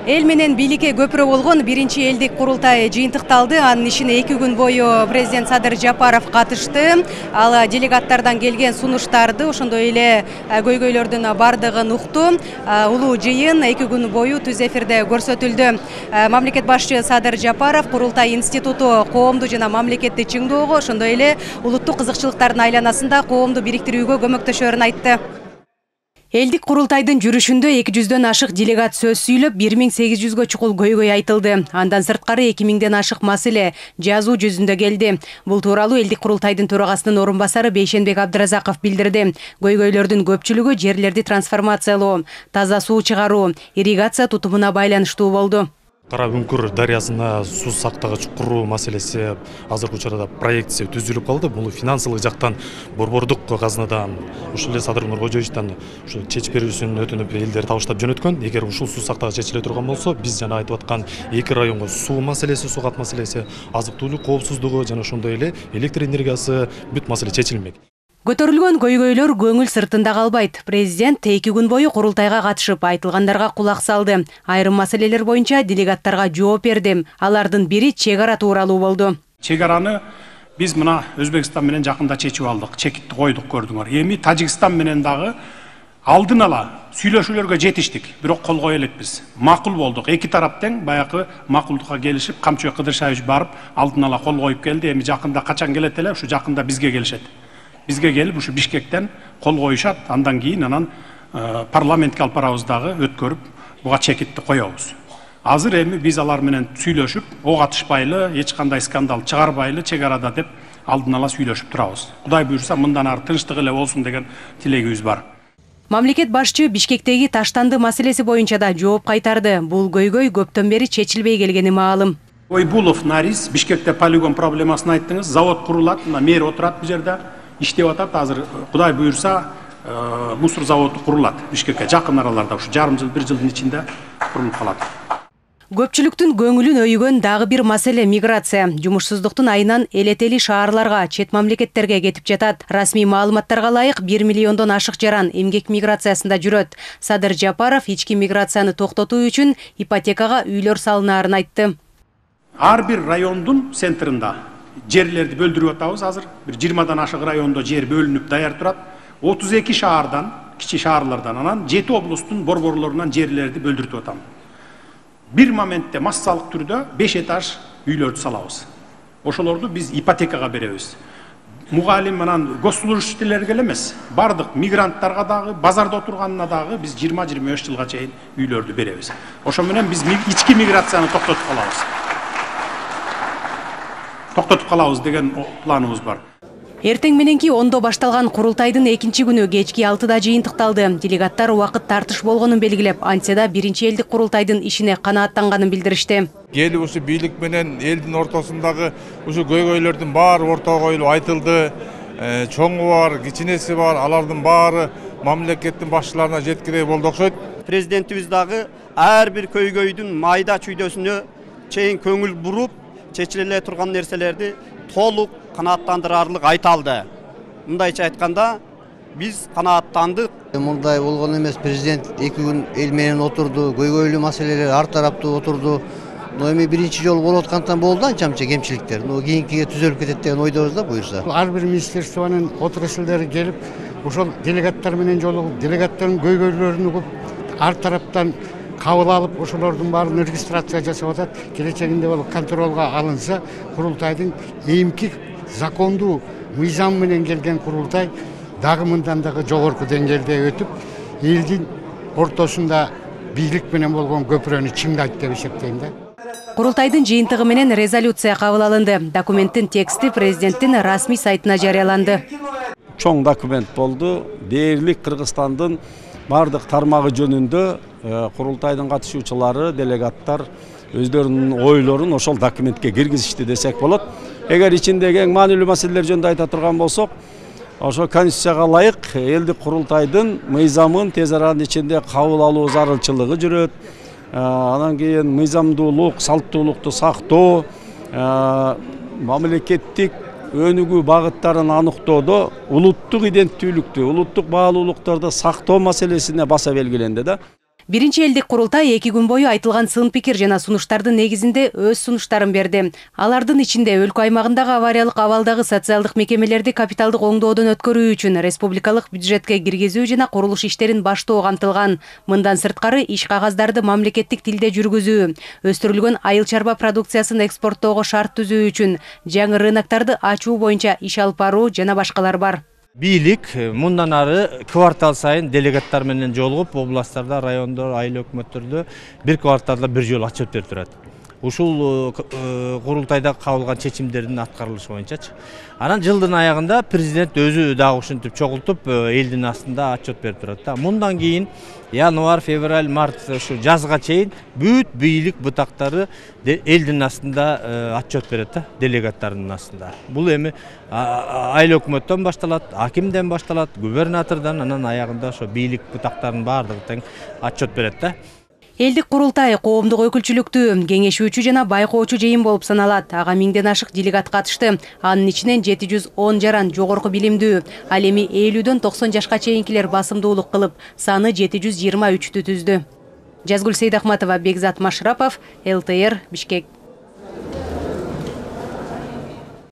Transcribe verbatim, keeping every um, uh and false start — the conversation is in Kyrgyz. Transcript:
Эл менен бийликке көпүрө болгон биринчи элдик курултай жыйынтыкталды. Анын ишине эки күн бою президент Садыр Жапаров катышты. Ал делегаттардан келген сунуштарды, ошондой эле көйгөйлөрдүн бардыгын укту. Улуу жыйын эки күн бою түз эфирде көрсөтүлдү. Мамлекет башчы Садыр Жапаров Курултай институту коомду жана мамлекетти чыңдоого, ошондой эле улуттук кызыкчылыктардын айланасында коомду бириктирүүгө көмөктөшөрүн айтты. Элдик курултайдын жүрүшүндө эки жүздөн ашык делегат сөз сүйлөп, бир миң сегиз жүзгө чукул көйгөй айтылды. Андан сырткары эки миңден ашык маселе жазуу жүзүндө келди. Бул тууралуу элдик курултайдын төрагасынын орун басары Бейшенбек Абдыразаков билдирди. Көйгөйлөрдүн көпчүлүгү жерлерди трансформациялоо, таза суу чыгаруу, ирригация тутумуна байланыштуу болду. Кара Үңкүр дарыясына суу сактагыч куруу маселеси азыркы учурда проектси түзүлүп калды. Бул финансылык жактан борбордук казынадан ушул эле Садыр Нуркожоевичтен ушу чечип берүүсүн өтүнүп элдер табыштап жөнөткөн. Эгер ушул суу сактагыч чечиле турган болсо, биз жана айтып аткан эки районго суу маселеси, суу кат маселеси, азык-түлүк коопсуздугу жана ошондой эле электр энергиясы бүт маселе чечилмек. Көтөрүлгөн көйгөйлөр көңүл сыртында калбайт. Президент эки күн бою курултайга катышып, айтылгандарга кулак салды. Айрым маселелер боюнча делегаттарга жооп берди. Алардын бири чек ара тууралуу болду. Чек араны биз мына Өзбекстан менен жакында чечип алдык, чекитти койдук, көрдүңөр. Эми Тажикстан менен дагы алдын ала сүйлөшүүлөргө жетиштик, бирок кол кое элекпиз. Макул болдук. Эки тарап тең баягы макулдукка келишип, Камчыбек Кыдыршаевич барып алдын ала кол коюп келди. Эми жакында качан келет эле, ушу жакында бизге келишет. Бизге келип ушу Бишкектен кол коюшат, андан кийин анан парламентке алып барабыз дагы өткөрүп, буга чекитти коебуз. Азыр эми биз алар менен сүйлөшүп, ок атышпайлы, эч кандай скандал чыгарбайлы чек арада деп алдын ала сүйлөшүп турабыз. Кудай буйрса мындан ары тынчтык эле болсун деген тилегибиз бар. Мамлекет башчы Бишкектеги таштанды маселеси боюнча да жооп кайтарды. Бул көйгөй көптөн бери чечилбей келгени маалым. Ойбулов Нарис Бишкекте полигон проблемасын айттыңыз. Завод курулат, мына мэр отурат бул жерде. Иштеп атат, азыр Кудай буйрса мусор заводу курулат Бишкекке жакын араларда, ушу жарым жыл, бир жылдын ичинде курулуп калат. Көпчүлүктүн көңүлүн өйгөн дагы бир маселе миграция. Жумушсуздуктун айынан элетели шаарларга, чет мамлекеттерге кетип жатат. Расмий маалыматтарга ылайык бир миллиондон ашык жаран эмгек миграциясында жүрөт. Садыр Жапаров ички миграцияны токтотуу үчүн ипотекага үйлөр салынаарын айтты. Ар бир райондун центринда жерлерди бөлдүрүп атабыз азыр. Бир жыйырмадан ашык райондо жер бөлүнүп даяр турат. отуз эки шаардан, кичи шаарлардан, анан жети облустун борборлорунан жерлерди бөлдүртүп атам. Бир моментте массалык түрдө беш этаж үйлөрдү салабыз. Ошолорду биз ипотекага беребиз. Мугалим анан госслужащийлерге эле эмес, бардык мигранттарга дагы, базарда отурганына дагы биз жыйырма жыйырма беш жылга чейин үйлөрдү беребиз. Ошо менен биз ички миграцияны токтотуп калабыз. Токтотуп калабыз деген планыбыз бар. Эртең мененки ондо башталган курултайдын экинчи күнү кечки алтыда жыйынтыкталды. Делегаттар убакыт тартыш болгонун белгилеп, антияда биринчи элдик курултайдын ишине канааттанганын билдиришти. Келип ушу бийлик менен элдин ортосундагы ушу көйгөйлөрдүн баары ортого коюлуп айтылды. Чоңу бар, кичинеси бар, алардын баары мамлекеттин башчыларына жеткирүү болду окшойт. Президентибиз дагы ар бир көйгөйдүн майда чүйдөсүнө чейин көңүл буруп, чечиле турган нерселерди толук канааттандырарлык айта алды. Мындайча айтканда, биз канааттандык. Мындай болгон эмес, президент эки күн эл менен отурду, көйгөйлүү маселелер ар тараптуу отурду. Но эми биринчи жолу болуп аткандыктан болду анча-мынча кемчиликтер. Но кийинкиге түзөлүп кетет деген ойдобуз да буюрса. Ар бир министрликтонун отурушчулары келип, ошол делегаттар менен жолугуп, делегаттардын көйгөйлөрүн угуп, ар тараптан кабыл алып, ошолордун баарын регистрация жасап атат. Келечегинде бол контролго алынса, курултайдын эмки закондуу мыйзам менен келген курултай дагы мындан дагы жогорку деңгээлде өтүп, элдин ортосунда бийлик менен болгон көпүрөнү чыңдайт деп эсептейм да. Курултайдын жыйынтыгы менен резолюция кабыл алынды. Документтин тексти президенттин расмий сайтына жарыяланды. Чоң документ болду. Дээрлик Кыргызстандын бардык тармагы жөнүндө курултайдын катышуучулары, делегаттар өздөрүнүн ойлорун ошол документке киргизишти десек болот. Эгер ичиндеги эң маанилүү маселелер жөнүндө айта турган болсок, ошо конституцияга ылайык элдик курултайдын мыйзамын тез аранын ичинде кабыл алуу зарылчылыгы жүрөт. Анан кийин мыйзамдуулук, салттуулукту сактоо, мамлекеттик өнүгүү багыттарын аныктоодо улуттук иденттүүлүктү, улуттук баалуулуктарды сактоо маселесине баса белгиленди да. Биринчи элдик курултай эки күн бою айтылган сын пикир жана сунуштардын негизинде өз сунуштарын берди. Алардын ичинде өлкө аймагындагы авариялык абалдагы социалдык мекемелерди капиталдык оңдоодон өткөрүү үчүн республикалык бюджетке киргизүү жана курулуш иштерин баштоо камтылган. Мындан сырткары иш кагаздарды мамлекеттик тилде жүргүзүү, өстүрүлгөн айыл чарба продукциясын экспорттоого шарт түзүү үчүн жаңы рыноктарды ачуу боюнча иш алып баруу жана башкалар бар. Бийлик мындан ары квартал сайын делегаттар менен жолугуп, областтарда, райондор, айыл өкмөттөрдө бир кварталда бир жолу отчет берип турат. Ушул курултайда кабылган чечимдердин аткарылышы боюнчачы. Анан жылдын аягында президент өзү дагы ушинтип чогултуп, элдин астында отчет берип турат да. Мындан кийин январь, февраль, март ушу жазга чейин бүт бийлик бутактары элдин астында отчет берет да, делегаттардын астында. Бул эми айыл өкмөттөн башталат, акимден башталат, губернатордон, анан аягында ошо бийлик бутактарынын баардыгы тең отчет берет да. Элдик курултай коомдук өкүлчүлүктүү, кеңешүүчү жана байкоочу жыйын болуп саналат. Ага миңден ашык делегат катышты. Анын ичинен жети жүз он жаран жогорку билимдүү, ал эми элүүдөн токсон жашка чейинкилер басымдуулук кылып, саны жети жүз жыйырма үчтү түздү. Жазгүл Сейдахматова, Бекзат Машрапов, эл тэ эр, Бишкек.